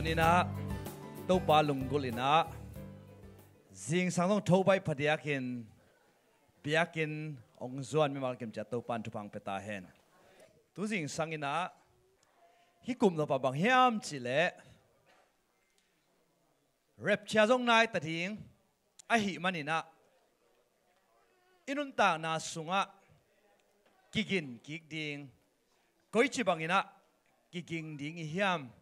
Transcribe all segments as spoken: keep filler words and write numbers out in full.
Inah Topa lunggulh inah zingsang zong tho baih phadiakin biakinn hong zuan mimal kim ciat Topa in thupha hong pia ta hen. Tu zingsang inah hih kum nop ah bang hiam cihleh rapture zong nai ta ding ahih maninah i nuntakna sungah kigin kik ding, koici banginah kiging ding i hiam?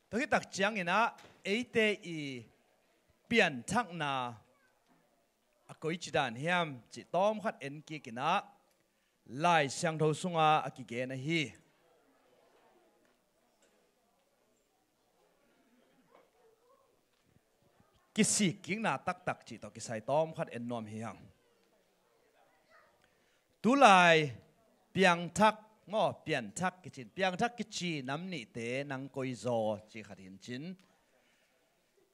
Tua hih tak cianginah eite i pianthakna a koici dan hiam cih tawmkhat en kik inah Lai Siangtho sunga a kigen ahi kisik kikna taktak cih tawh kisai tawmkhat en nuam hi hang. Tulai piangthak maw, pianthak kicin, piangthak kici nam nihte nang koi zaw ci khat hi in cin.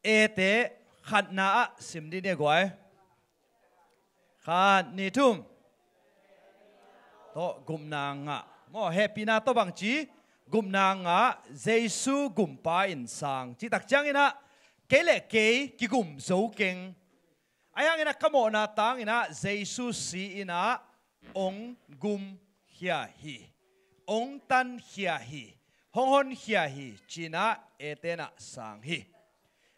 Ete khatna ah sim dih ni a guai. Khat, nih, thum. Tawh gupna ngah. Maw, hehpihna tawh bangci gupna ngah, Jesu gumpa in sang. Cih tak cianginah kei le kei kigum zo keng. Ahi hanginah ka mawhna tanginah Jesu si inah hong gumkhia hi, hong tankhia hi, hong honkhia hi, cinah etenah sang hi.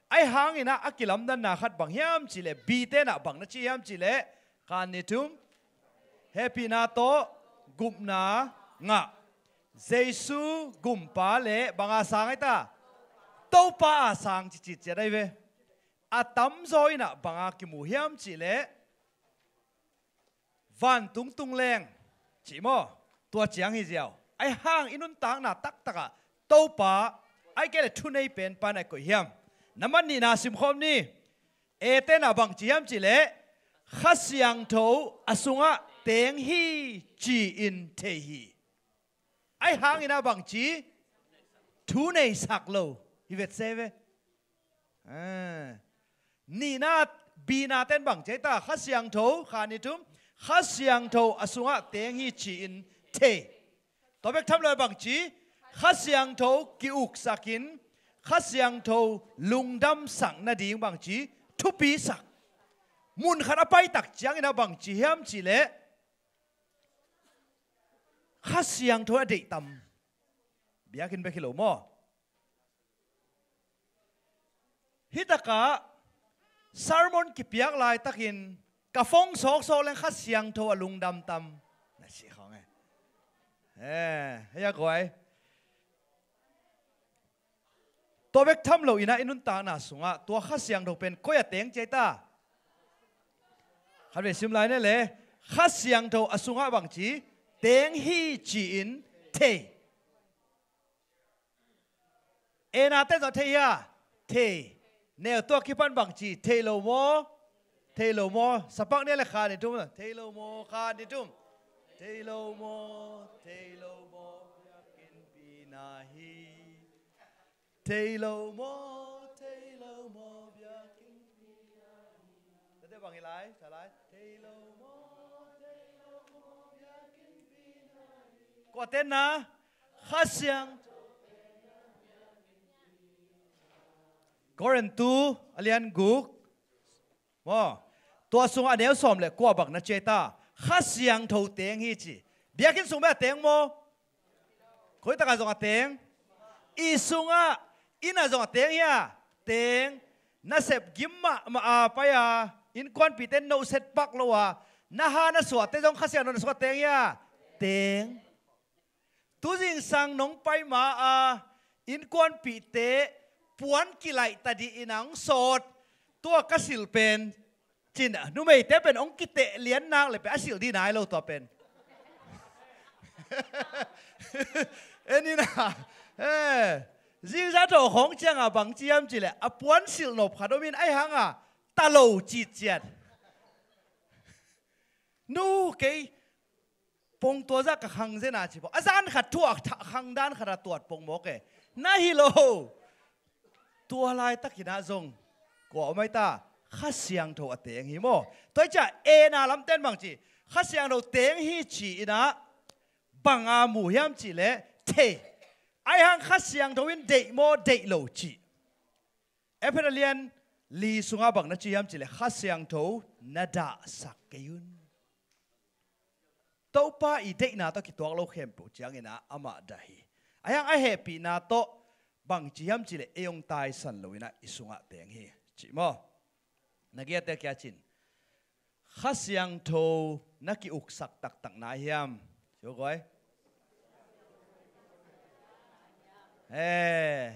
Ahi hanginah a kilamdanna khat bang hiam cihleh, bitenah bang na ci hiam cihleh, khan ni thum, hehpihna tawh gupna ngah, Jesu gumpa le banga sang ahi ta? Topa a sang cicit ciat ahi ve. A tamzaw inah banga kimu hiam cihleh, vantung tung leng cih maw, tua ciang hi ziau. Ahi hang i nuntakna taktakah Topa, ahi kei le thunei penpa na koih hiam? Nambat nihna simkhawm ni. Etenah bangci hiam cihleh, Kha Siangtho a sungah teng hi ci-in thei hi. Ahi hanginah bangci thuneisak lo hi vetse ve. Nihna, bina ten bangci ahi ta? Kha Siangtho, khan ni thum, Kha Siangtho a sungah teng hi ci-in thei. Tua bek tham lo bangci, Kha Siangtho ki-uksakin Kha Siangtho lungdamsak nading bangci thupisak. Munkhat a paitak cianginah bangci hiam cihleh, Kha Siangtho a deihtam. Biakinn bek hi lo maw? Hitakah sermon kipiak laitakin ka phone sawksawk leng Kha Siangtho a lungdam tam na si khawng e. Eh, hei a guai. Tua bek tham lo inah i nuntakna sungah tua Kha Siangtho pen koi a teng ci ahi ta? Khat vei sim lai ne le. Kha Siangtho a sungah bangci teng hi ci-in thei. Ena te zaw thei hia? Thei. Neu tua kipan bangci thei lo maw? Thei lo maw? Sapak nia le kha ni tum. Thei lo maw, kha ni tum. Thei lo maw, thei lo maw, biakinn pina hi. Thei lo maw, thei lo maw, biakinn pina hi. Tate bang hi lai, sa lai. Thei lo maw, thei lo maw, biakinn pina hi. Kua tenna? Kha Siang. Korintu a lian guk maw, tua sungah a neu sawm le kua bang na ci ahi ta? Kha Siangtho teng hi ci. Biakinn sung bek a teng maw? Koi takah zong a teng? I sungah, inn ah zong a teng hia? Teng. Na sep gim mahmah a pai a, innkuanpihte nohset pak lo a, na ha na suahte zong Kha Siangtho na sungah teng hia? Teng. Tu zingsang nong pai ma a, innkuanpihte puan kilaih ta dih in a hong sawt. Tua ka silh pen cin a, numeite pen hong kiteh lian nak le pen a silh dih nai lo tua pen. En in a, eh, zingza tawh khawng ciangah bang ci hiam cih leh a puan silh nop khat om in ahi hanga ta lo citciat. Nu kei pong tua zah ka khang zen a ci pong. A zan khat thu a tha-, khang dan khat a tuat pong mawk e. Na hi lo. Tua laitakin ah zong kua om ahi ta? Kha Siangtho a teng hi maw? Tua hi ciah ena lamten bang ci? Kha Siangtho teng hi ci-in ah bang a mu hiam cih leh thei. Ahi hang Kha Siangtho in deih maw deih lo cih, Efesa lian li sungah bang na ci hiam cih leh Kha Siangtho na dahsak kei un. Topa i deihna tawh kituak lo khempeuh ciangin ah amah dah hi. Ahi hang a hehpihna tawh bang ci hiam cih leh ei hong taisan lo in ah i sungah teng hi cih maw? Na giate kia cin, Kha Siangtho na ki-uksak taktak na hiam? Ci ua guai. He,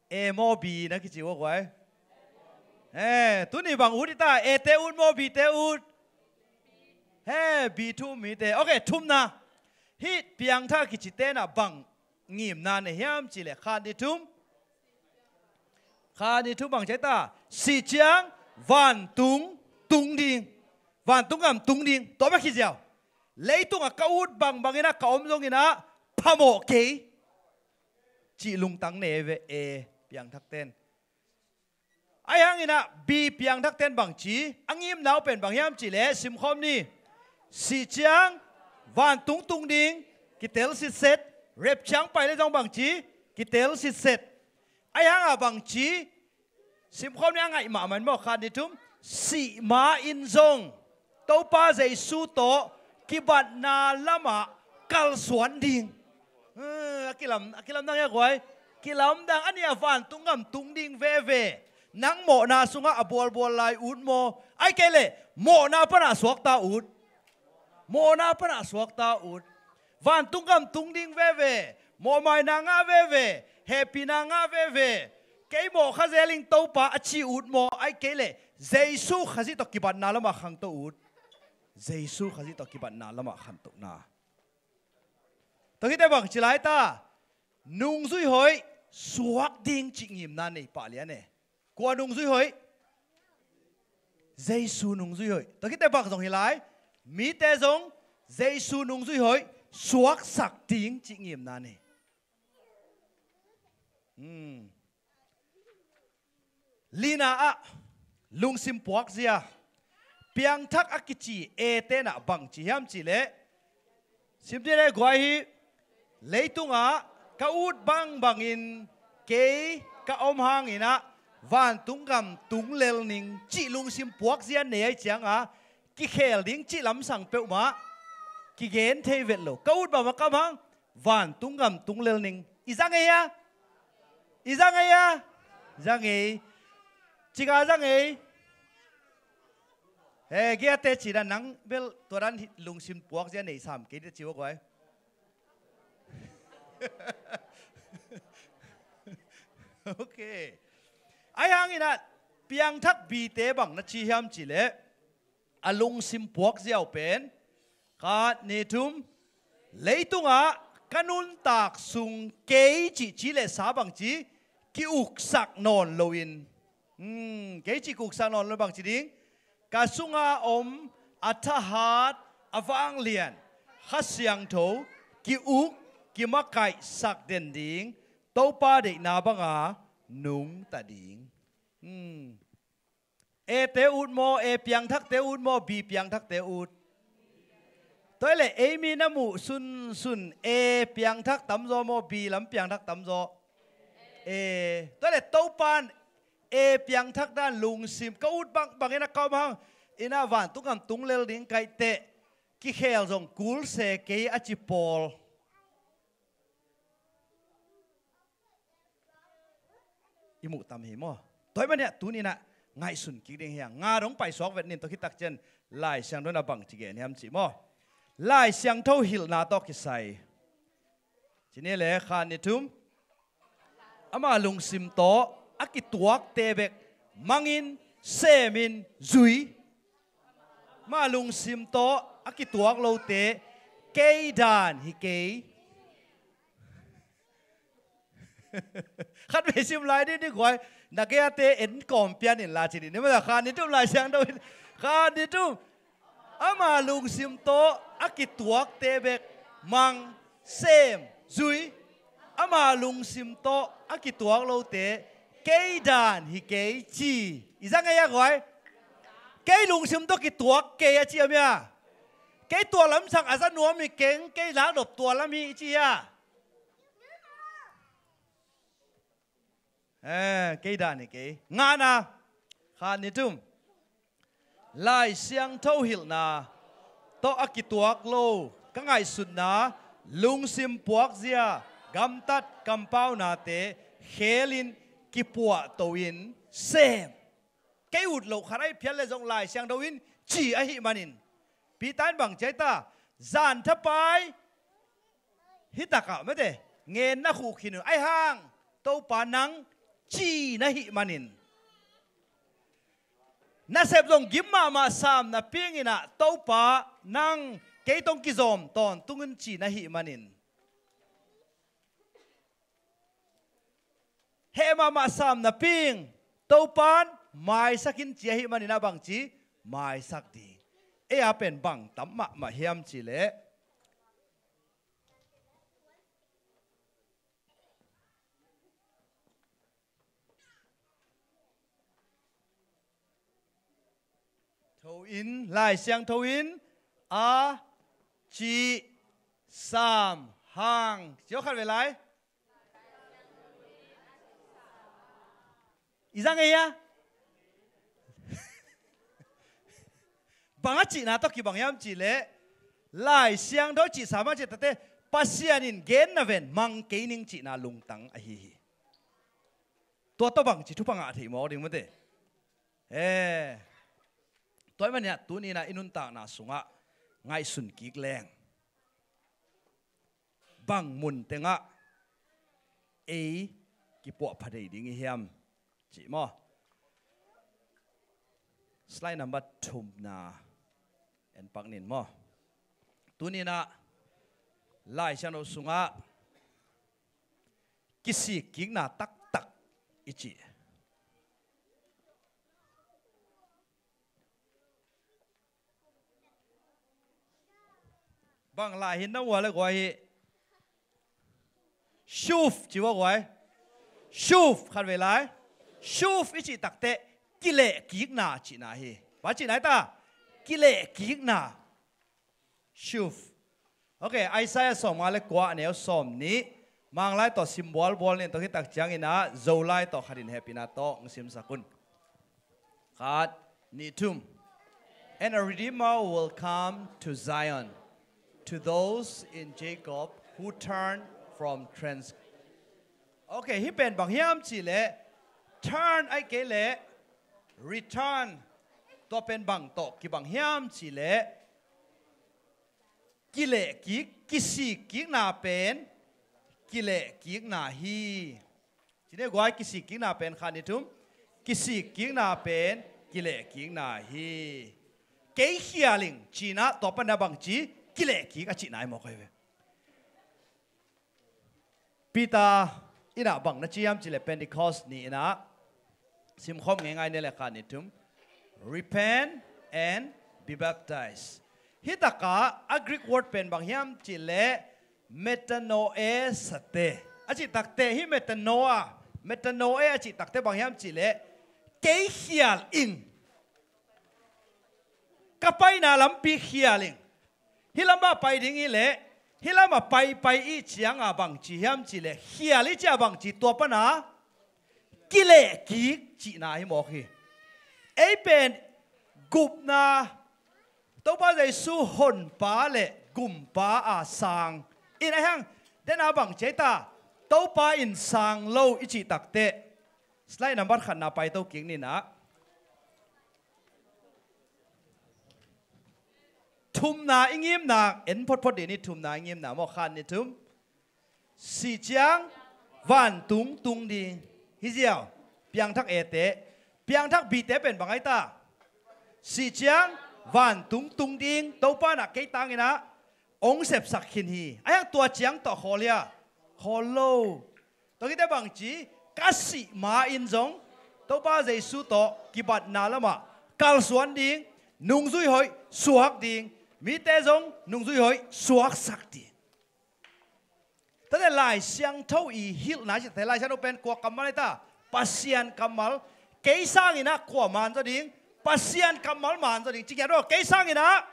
A maw B na kici ua guai. He, tuni bang ut i ta, A te ut maw B te ut? He, B thum hi te. Ok, thumna. Hih piangthak kici tenah bang ngimna nei hiam cih leh khat ni thum. Khat ni thum bang ci ta, sih ciang vantung tung ding. Vantung gam tung ding. Tua bek hi ziau. Leitungah ka ut bangbang in ah ka om zongin ah phamawh kei cih lungtang nei ve A piangthak ten. Ahi hangin ah B piangthak ten bang ci, a ngimna uh pen bang hiam cih leh simkhawm ni. Sih ciang vantung tung ding, kitel sitset, rep ciang pai le zong bang ci, kitel sitset. Ahi hangah bang ci, simkhawm ni a ngaih mahmah in maw, khat ni thum, sih ma in zong Topa Jesu tawh kibatna lamah kalsuan ding. Eh, a kilam, a kilamdang hia guai. Kilamdang a nih a vantung gam tung ding veve. Nang mawhna sungah a bualbual lai ut maw? Ahih kei leh mawhna panah suakta ut. Mawhna panah suakta ut. Vantung gam tung ding veve. Mawhmaina ngah veve. Hehpihna ngah veve. Kei mawh kha zel ing Topa a ci ut maw? Ahih kei leh Jesu Khazih tawh kibatna lamah khangto ut. Jesu Khazih tawh kibatna lamah khantohna. Tua khit teh bang ci lai ta, nungzui hoih suak ding cih ngimna nei pah lian e. Kua nungzui hoih? Jesu nungzui hoih. Tua khit teh bang zong hi lai, mite zong Jesu nungzui hoih suaksak ding cih ngimna nei. Hmm. Lina ah lungsim puakzia. Piangthak a kici A tenah bang ci hiam cih leh, sim dih leh guai hi. Leitungah ka ut bangbangin kei ka om hangin ah vantung gam tung lel ning cih lungsim puakzia nei ahih ciangah kikhel ding cih lamsang peuhmah kigen thei vet lo. Ka ut bangbang ka om hang vantung gam tung lel ning. I za ngei a? I za ngei a? Za ngei. Cika za ngei. He, giate cina nang bel tua dan lungsim puakzia nei sam kei dih ci ua guai. Ok. Ahi hangin ah piangthak B te bang na ci hiam cih leh, a lungsim puakzia uh pen, khat ni thum, leitungah ka nuntak sung kei cih ci leh sa bang ci, ki-uksak nawn loin. Hmm, kei cih ki-uksak nawn lo bang ci ding. Ka sunga om a thahat a vanglian Kha Siangtho ki-uk kimakaihsak den ding, Topa deihna banga nungta ding. Hmm. A te ut maw, A piangthakte ut maw, B piangthakte ut? Tua hi leh ei mi na muh sunsun A piangthak tamzaw maw, B lam piangthak tamzaw? A. Tua hi leh Topa'n A piangthak dan lungsim, ka ut bangbang in a ka om hang in a vantung gam tung lel ding ka hih teh kikhel zong kul se kei a ci pawl i muh tam hi maw? Tua ahih manin ah tuni-in ah ngaihsun kik ding hi hang. Nga dong paisuak vet ning, tua khit tak ciang Lai Siangtho in ah bang ci gen hiam cih maw? Lai Siangtho hilhna tawh kisai. Ci ni leh, khat ni thum. Ama lungsim tawh a kituakte bek mangin, semin, zui. Ama lungsim tawh a kituak lote kei dan hi kei. Khat vei sim lai dih ni guai. Na gei-ate en kawm pian in la ci ni. Ni mah khat ni thum Lai Siangtho in. Khat ni thum. Ama lungsim tawh a kituakte bek mang, sem, zui. Ama lungsim tawh a kituak lote kei dan hi kei ci. I za ngei a guai? Kei lungsim tawh kituak kei a ci a mia. Kei tua lamsang a za nuam hi keng, kei lakdop tua lam hi i ci a. Eh, kei dan hi kei. Ngana, khat, nih, thum. Lai Siangtho hilhna tawh a kituak lo ka ngaihsutna, lungsim puakzia, gamtat kampaunate khelin kipuahto-in sem. Kei ut loh khat ahi phial le zong Lai Siangtho in ci ahih manin, Peter in bang ci ai ta? Zan thapai hi takah mate, ngen na khuh khin un, ahi hang Topa nang ci na hih manin, nasep zong gim mahmah sam napi-in ah Topa nang kei tawh kizom tawntung un ci na hih manin, heh mahmah sam napi-in Topa in maisak in ci ahih manin ah bang ci? Maisak ding. Ei a pen bang tam mahmah hiam cih leh, tho in, Lai Siangtho in a cih sam hang. Ci aw khat vei lai. I zang ei a? Bang a cihna tawh kibang hiam cih leh, Lai Siangtho cih sam a cih takte, Pasian in genna ven mang kei ning cihna lungtang ahi hi. Tua tawh bang ci thupha ngah thei mawk ding mate. Eh, tua ahih manin ah tuni-in ah i nuntakna sungah ngaihsun kik leng, bang mun tengah ei kipuahpha thei ding i hiam cih maw? Slide number thumna en pak ning maw? Tuni-in ah Lai Siangtho sungah kisikkikna taktak i cih. Bang lai hi na ua le guai hi. Shuv ci ua guai. Shuv khat vei lai. Shuv i cih takte kilehkikna cihna hi. Bang cihna hi ta? Kilehkikna. Shuv. Ok, Isaiah sawmnga le kua, a neu sawmnih. Manglai tawh sim bualbual ning, tua khit tak ciangin ah Zolai tawh khat in hehpihna tawh hong simsak un. Khat, nih, thum. And a redeemer will come to Zion, to those in Jacob who turn from trans. Ok, hih pen bang hiam cih leh, turn ahih kei leh return. Tua pen bang tawh kibang hiam cih leh, kilehkik, kisikkikna pen kilehkikna hi. Ci ni guai, kisikkikna pen, khat, nih, thum. Kisikkikna pen kilehkikna hi. Kei khial ing ci-in ah tua pan ah bang ci? Kilehkik a cihna hi mawk hi ve. Peter in ah bang na ci hiam cih leh Pentecost ni-in ah, simkhawm ngeingai ni leh, khat, nih, thum. Repent and be baptized. Hih takah a Greek word pen bang hiam cih leh metanoe'sate a cih takte, hih metanoia, metanoia a cih takte bang hiam cih leh kei khial ing. Ka paina lampi khial ing. Hih lamah pai ding hi leh, hih lamah pai, pai i cianga bang ci hiam cih leh, khial i cianga bang ci? Tua pan ah kilehkik cihna hi mawk hi. Ei pen gupna, Topa Jesu honpa le gumpa a sang in, ahi hang den a bang ci ai ta? Topa in sang lo i cih takte. Slide number khatna paito kik ning ah. Thumna i ngimna en photphot dih ni, thumna i ngimna maw, khat, nih, thum. Sih ciang vantung tung ding. Hi ziau, piangthak A te. Piangthak B te pen bang ai ta? Sih ciang vantung tung ding. Topa in ah kei tangin ah hong sepsak khin hi. Ahi hang tua ciang tawh khawl hia? Khawl lo. Tua khit teh bang ci? Ka sih ma-in zong Topa Jesu tawh kibatna lamah kalsuan ding, nungzui hoih suak ding, mite zong nungzui hoih suaksak ding. Tate Lai Siangtho i hilhna cihte, Lai Siangtho pen kua kammal ai ta? Pasian kammal. Kei sangin ah kua man zaw ding? Pasian kammal man zaw ding. Ci ngiat aw, kei sangin ah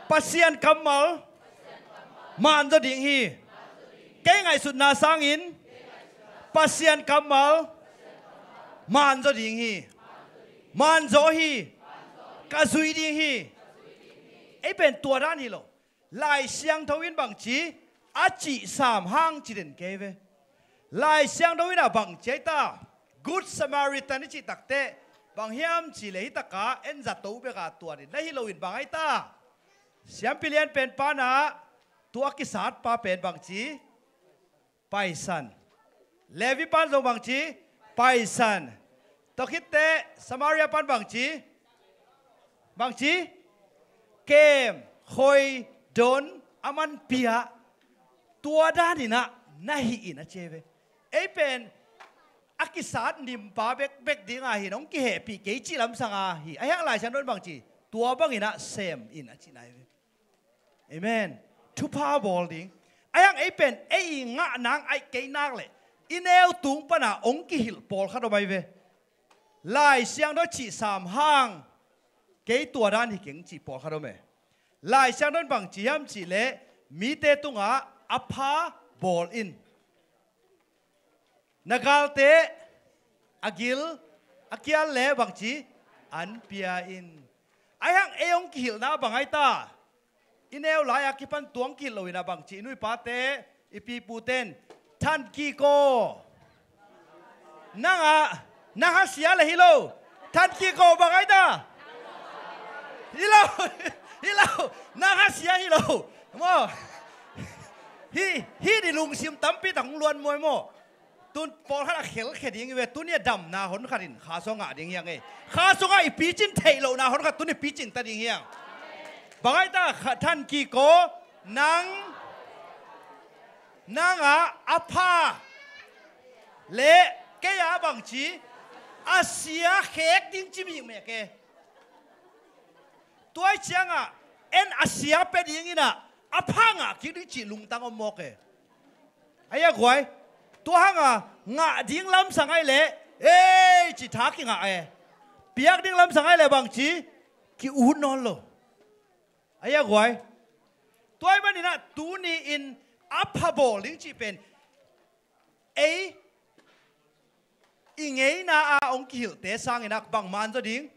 Pasian kammal man zaw ding hi. Kei ngaihsutna sangin Pasian kammal manzaw ding hi. Manzaw hi. Ka zui ding hi. Ei pen tua dan hi lo. Lai Siangtho in bangci a cih sam hang ci den kei ve. Lai Siangtho in a bangci ai ta, Good Samaritan i cih takteh bang hiam cih leh hi taka en zato beka tua din na hi loin bang ai ta. Siampi lian pen pana tua kisat pa pen bangci paisan. Levi pan zong bangci paisan. Tua khitteh Samaria pan bangci, bangci kem, khoi, don, a man pia. Tua daninah na hi in a ci ve. Ei pen a kisat nimpa bekbek dinga hin hong kihehpih kei cih lamsanga hi. A hiang Lai Siangtho in bangci tua banginah sem in a cihna hi ve. Amen. Thupha bawl ding. A hiang ei pen ei i ngah nang aih kei nak leh i neu tung pana hong kihilh pawlkhat om ai ve. Lai Siangtho cih sam hang kei tua dan hi keng cih pawlkhat om e. Lai Siangtho in bangci hiam cih leh mite tungah a pha bawl in. Na galte a gil a kial le bangci an pia in. A hiang ei hong kihilhna bang ai ta. I neu lai-a kipan tuang kihilh loinah bangci i nuipate i piputen than kik aw. Nangah nang hasia le hi lo. Than kik aw bang ai ta. Hi lo. Hi lo. Nang hasia hi lo. Maw. Hi, hi di lungsim tampi tak hong luan muai maw. Tun pawlkhat a khelkhia ding i ve, tuni a damna hon khat in kha sua ngah ding hiang e. Kha sua ngah i picin theih lohna hon khat tuni picin ta ding hiang. Bang ai ta kha than kik aw nang nangah a pha le kei a bangci a sia khek ding ci mihmek e. Tuai ciangah en a sia pia dinginah a pha ngah kik ding cih lungtang om mawk e. Ai a guai. Tua hanga ngah ding lamsang ai leh ei ci tha kingah e. Piak ding lamsang ai leh bangci ki-ut nawn lo. Ai a guai. Tuai maninah tuni in a pha bawl ding cih pen ei i ngeina a hong kihilhte sanginah bang manzaw ding.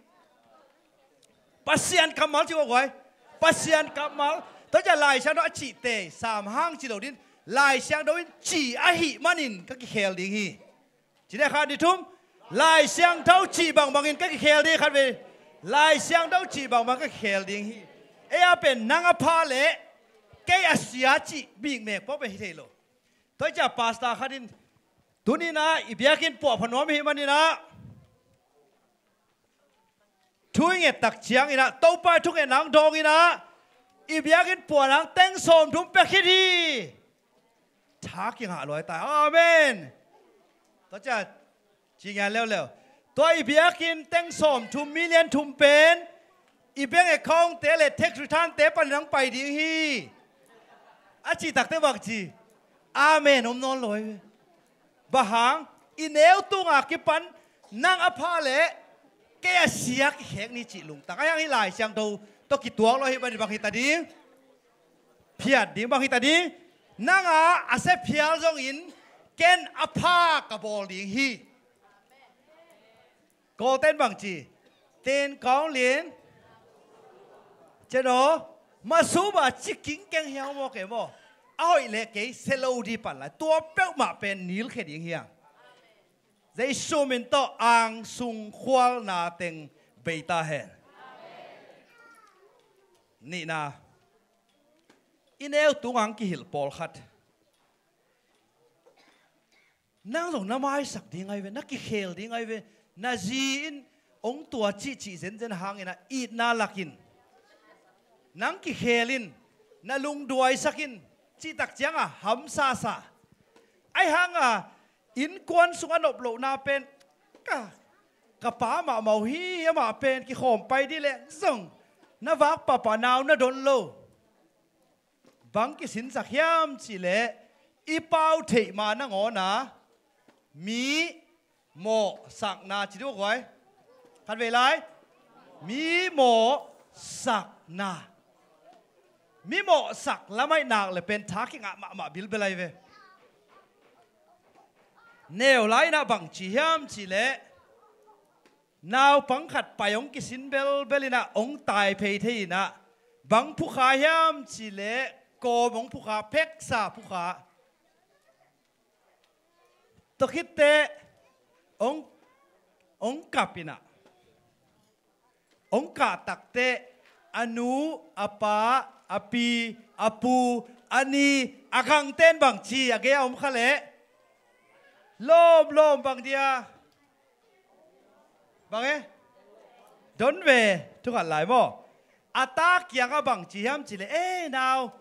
Pasian kammal ci guai. Pasian kammal. Tua ciah Lai Siangtho a cihte sam hang ci lo din Lai Siangtho in ci ahih manin ka kikhel ding hi. Ci deh khat ni thum. Lai Siangtho cih bangbangin ka kikhel ding khat ve. Lai Siangtho cih bangbang ka kikhel ding hi. Ei a pen nang a pha le kei a sia cih bikmek pawh pen hi thei lo. Tua ciah pastor khat in tuninah i biakinn puah pha nuam hi maninah thu i nget tak cianginah Topa i thungetna hong dawnginah i biakinn puah nang teng sawm thum pia khit hi. Tha kingah luai ta. Amen. Tua ciah ci ngian leuleu. Tua i biakinn teng sawm thum million thum pen i bank account te le tax return te panin hong pai ding hi. A cih takte bang ci. Amen om nawn lo hi ve. Bang hang i neu tunga kipan nang a pha le kei a sia kikhek ni cih lungtang a hiang hi Lai Siangtho tawh kituak lo hi bang hi ta ding. Phiat ding bang hi ta ding. Nanga a sia phial zongin ken a pha ka bawl ding hi. Kawlten bang ci. Ten kaung lin ceno masuba ci kingkeng hiang maw kei maw. A hoih leh kei sia lo di pan lai tua peuhmah pen nilkhia ding hiang. Jesu min tawh angsung khualna teng bei ta hen. Nihna. I neu tunga hong kihilh pawlkhat nang zong na maisak ding ai ve, na kikhel ding ai ve. Na zi in hong tua cihcih zenzen hanginah itna lakin nang kikhel in, na lungduaisak in cihtak cianga hamsasa. Ai hanga innkuan sung a nop lohna pen ka, ka pa mahmah uh hi, amah pen kikhawm pai dih leh zong na vak pahpah nau na don lo. Bang kisinsak hiam cihleh i pau theih ma nangawna mi mawhsakna ci dih guai. Khat vei lai. Mi mawhsakna. Mi mawhsak lamah i nak le pen tha kingah mahmah bilbel ai ve. Neu lai-in ah bang ci hiam cih leh, naupang khat pai hong kisin belbel in ah hong tai phei thei in ah, bang phukha hiam cih leh kawm hong phukha, pheksa phukha. Tua khit teh hong, hong kap in ah, hong kah tak teh a nu, a pa, a pi, a pu, a ni, a gangte in bang ci, a gei a om kha leh, lawm lawm, bang dia, bang e, don ve, thu khat lai maw. A ta kiangah bang ci hiam cih leh, "E nau,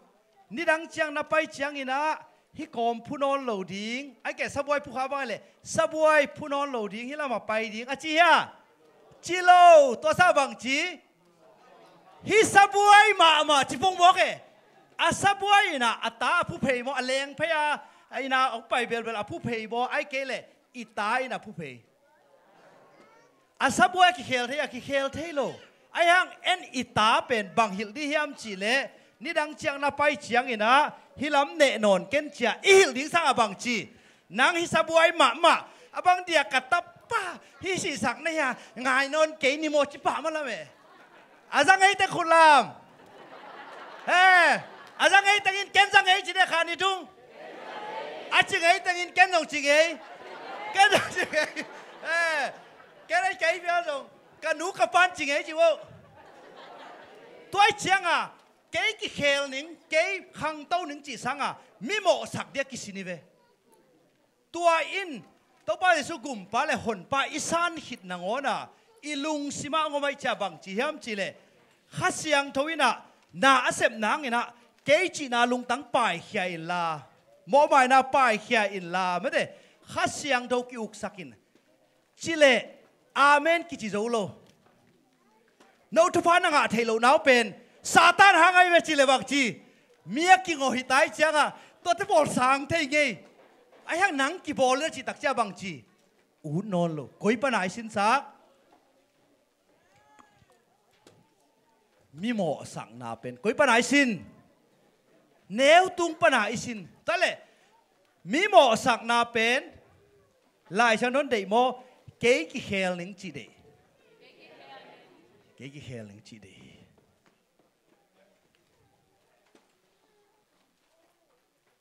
nidang ciang na pai ciangin ah hih kawm phu nawn lo ding, ahih keh sabuai phukha bang leh, sabuai phu nawn lo ding, hih lamah pai ding," a ci hia? Ci lo. Tua sa bang ci? "Hih sabuai mahmah," ci pong mawk e. A sabuai in ah a ta a phu phei maw, a leng phei a, a in ah hong pai belbel a phu phei maw, ahih kei leh i ta in a phu phei. A sabuai a kikhel thei, a kikhel thei lo. Ahih hang en, i ta pen bang hilh ding hiam cih leh, nidang ciang na pai ciangin ah hih lam neh nawn ken ci-a i hilh ding sangah bang ci? "Nang hih sabuai mahmah, a bang dia ka tapa hih sihsak na hia, ngai nawn kei ni maw," ci pah mah lam e. A za ngei teng khut lam. He, a za ngei tengin ken za ngei ci deh, khat nih thum. A ci ngei tengin ken zong ci ngei. Ken zong ci ngei. He, ken a kei bia zong, ka nu ka pa'n ci ngei ci vo. Tua ahih ciangah kei kikhel ning, kei khangto ning cih sangah mimawhsak ding a kisin hi ve. Tua in Topa Jesu Gumpa le Honpa i san khit nangawnah i lungsimah hong om ahih ciang bang ci hiam cih leh, Kha Siangtho in ah na a sep nangin ah kei cihna lungtang paikhia inla, mawhmaina paikhia inla, mate, Kha Siangtho ki-uksak in, ci leh amen kici zo lo. No thupha na ngah theih loh nau pen Satan hang ahi ve ci leh bang ci? Mi a kingawh hi ta ahih ciangah tuate pawl sang thei ngei. Ahih hang nang kibawl in a cih tak ciang bang ci? Ut nawn lo. Koi pana i sinsak? Mimawhsakna pen koi pana i sin? Neu tung pana i sin. Tua leh mimawhsakna pen Lai Siangtho in deih maw, kei kikhel ning cih deih. Kei kikhel ning cih deih.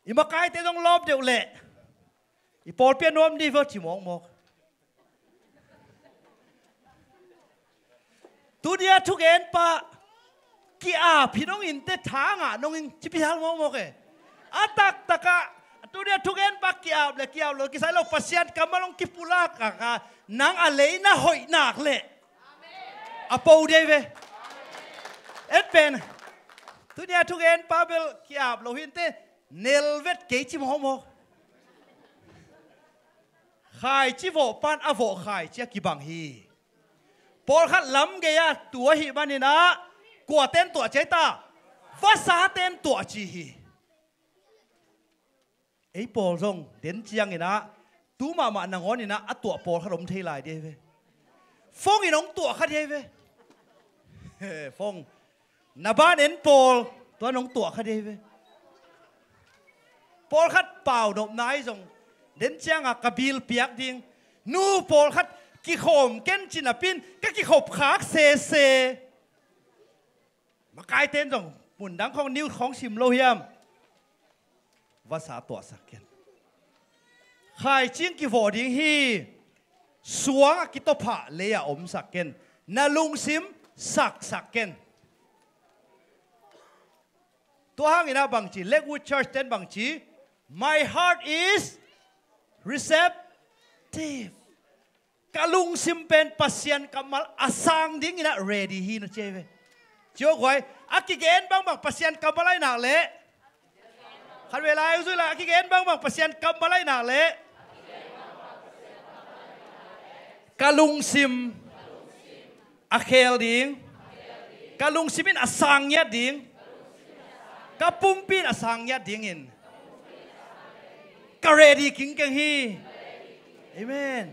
I makaite zong lawp deuh leh i pawlpi a nuam dih vo ci mawkmawk. Tuni a thugenpa ki-ap hi nong in teh, tha ngah nong in ci phial mawkmawk e. A taktakah tuni a thugenpa ki-ap le ki-ap lo kisai lo, Pasian kammal hong kipulak a, nang a lei na hoih nak leh a po dei ve. En pen tuni a thugenpa bel ki-ap lo hi in teh, nel vet kei ci mawkmawk. Khaici vawh pan a vawh khaici a kibang hi. Pawlkhat lam gei-ah tu ahih manin ah kuate'n tuah ci ahi ta? Vasate'n tuah ci hi. Ei pawl zong den ciangin ah tu mahmah nangawn in ah a tuah pawlkhat om thei lai dih ahi ve. Phone in hong tuah kha dih ahi ve. Phone na ban en pawl, tua in hong tuah kha dih ahi ve. Pawlkhat pau nopna ahi zong, den ciangah ka bill piak ding, nu pawlkhat kikhawm ken ci napi in ka kikhop khak sese. Makaite'n zong mundang khawng, news khawng sim lo hiam? Vasa tuahsak ken. Khaici in kivawh ding hi. Suang a kitophah lei-ah omsak ken. Na lungsim saksak ken. Tua hangin ah bang ci, Lakewood Church te'n bang ci? "My heart is receptive." Ka lungsim pen Pasian kammal a sang dingin ah ready hi, na ci ahi ve. Ci aw guai, a kigen bangbang Pasian kammal ahi nak leh, khat vei lai hong zui lai, a kigen bangbang Pasian kammal ahi nak leh, ka lungsim a khel ding, ka lungsim in a sang ngiat ding, ka pumpi in a sang ngiat dingin ka ready kingkeng hi. Amen.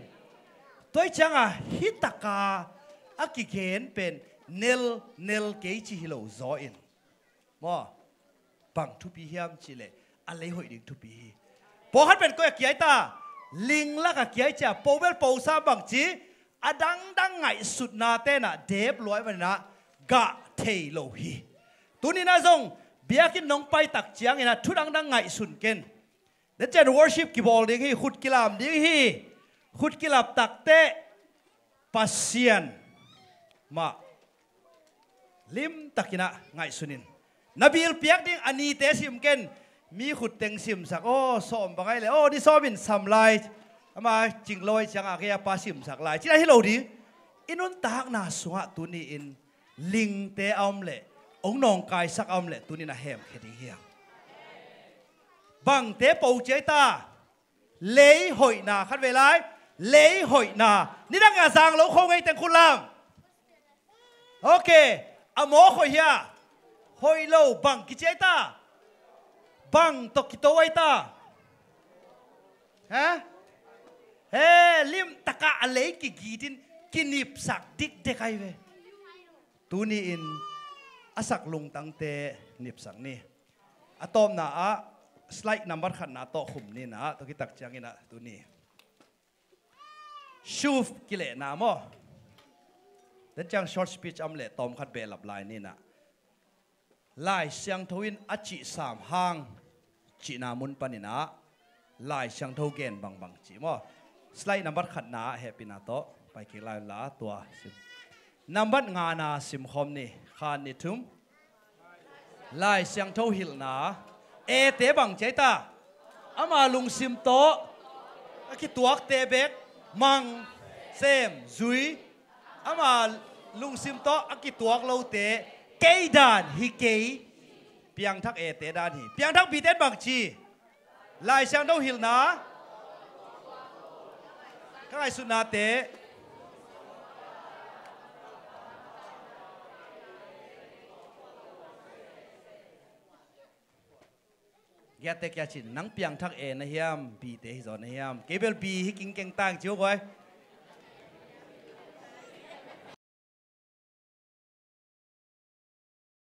Tua ahih ciangah hih taka a kigen pen nel, nel kei ci hi lo zaw in, maw, bang thupi hiam cih leh a lei hoih ding thupi hi. Pawlkhat pen koi a kia ahi ta? Ling lak a kia i ci a, po bel po sam bangci, a dangdang ngaihsutna tenah dep luai maninah gah thei lo hi. Tuninah zong biakinn nong pai tak cianginah thu dangdang ngaihsun ken. Dacen worship kibawl ding hi, khut kilam ding hi. Khut kilap takteh Pasian mah limtakinah ngaihsunin. Na bil piak ding a nite sim ken. Mi khut teng simsak, aw, sawm bang ai le, aw, ni sawmin sam lai. Ama cinglo ai ciangah kei a pa simsak lai. Cina hi lo ding. I nuntakna sungah tuni-in lingte a om leh, ong nawngkaisak a om leh, tunin a hemkhia ding hiam? Bangte po ciai ta. Lei hoihna, khat vei lai. Lei hoihna. Nidang a zang lo kho ngei teng khut lam. Ok. A mawk hoih hia? Hoih lo, bang kiciai ta? Bang tawh kito ai ta? Ha? He, limtakah a lei kigitin kinipsak dikdek ai ve. Tuni-in a sak lungtangte nipsak ni. A tawpna ah slide number khatna tawh khum ninah, tua kitak cianginah tuni. Shuf kilehna maw? Den ciang short speech am leh tawm khat behlap lai ninah. Lai Siangtho in a cih sam hang cihna mun paninah Lai Siangtho gen bangbang cih maw? Slide number khatna ah hehpihna tawh pai kik lai unla tua sim. Number ngana simkhawm ni, khat ni thum. Lai Siangtho hilhna. Ete bang ciai ta? Ama lungsim tawh a kituakte bek mang, sem, zui. Ama lungsim tawh a kituak lote kei dan hi kei. Piangthak ete dan hi. Piangthak biten bang ci? Lai Siangtho hilhna. Ka ngaihsutnate. Giate kia cin, nang piangthak e na hiam, bite hi zaw na hiam? Kei bel bi hi kingkeng tang ci uh guai.